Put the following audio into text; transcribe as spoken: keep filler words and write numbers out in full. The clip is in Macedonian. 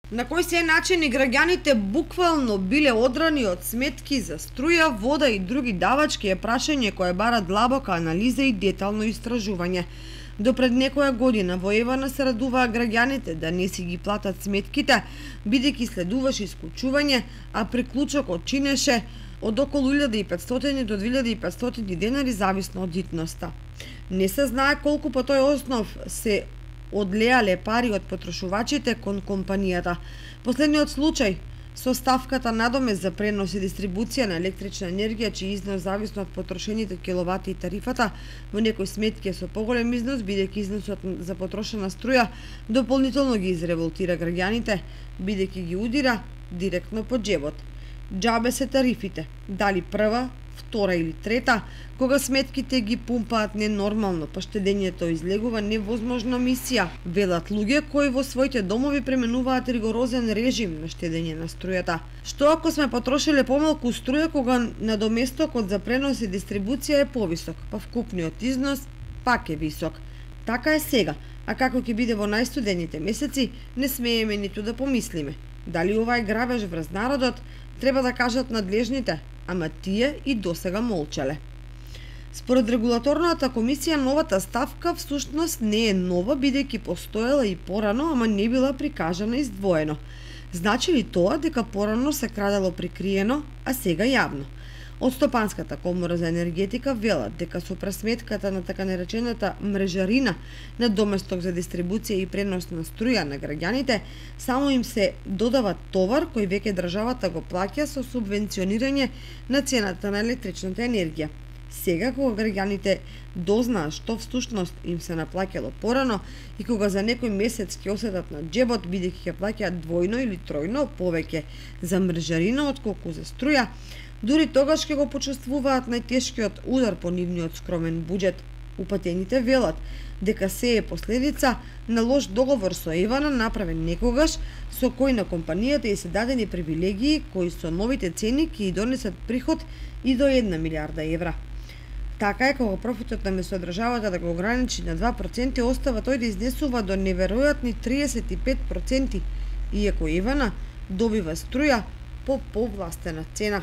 На кој се начини граѓаните буквално биле одрани од сметки за струја, вода и други давачки е прашање кое бара длабока анализа и детално истражување. До пред некоја година во Евана се радуваа граѓаните да не си ги платат сметките, бидејќи следуваше исклучување, а приклучокот чинеше од околу илјада и петстотини до две илјади и петстотини денари зависно од итноста. Не се знае колку по тој основ се одлеале пари од потрошувачите кон компанијата. Последниот случај со ставката надомест за пренос и дистрибуција на електрична енергија, чиј износ зависно од потрошените киловати и тарифата, во некои сметки е со поголем износ, бидејќи износот за потрошена струја дополнително ги изреволтира граѓаните, бидејќи ги удира директно по џебот. Џабе се тарифите, дали прва, втора или трета, кога сметките ги пумпаат ненормално, па штедењето излегува невозможна мисија, велат луѓе кои во своите домови пременуваат ригорозен режим на штедење на струјата. Што ако сме потрошиле помалку струја кога надоместокот за пренос и дистрибуција е повисок, па вкупниот износ пак е висок. Така е сега, а како ќе биде во најстудените месеци, не смееме ниту да помислиме. Дали ова е грабеж врз народот, треба да кажат надлежните, ама тие и досега молчале. Според регулаторната комисија, новата ставка всушност не е нова, бидејќи постоела и порано, ама не била прикажана издвоено. Значи ли тоа дека порано се крадело прикриено, а сега јавно? Од Стопанската комора за енергетика велат дека со пресметката на така наречената мрежарина на доместок за дистрибуција и пренос на струја на граѓаните, само им се додава товар кој веќе државата го плаќа со субвенционирање на цената на електричната енергија. Сега, кога граѓаните дознаат што всушност им се наплаќало порано и кога за некој месец ќе осетат на џебот, бидејќи ќе плаќаат двојно или тројно повеќе за мрежарина отколку за струја, дури тогаш ќе го почувствуваат најтешкиот удар по нивниот скромен буџет. Упатените велат дека се е последица на лош договор со Евана направен некогаш, со кој на компанијата и се дадени привилегии кои со новите цени ќе донесат приход и до една милиарда евра. Така е, кога профитот на месодржавата да го ограничи на два проценти, остава тој да изнесува до неверојатни триесет и пет проценти, иако Евана добива струја по повластена цена.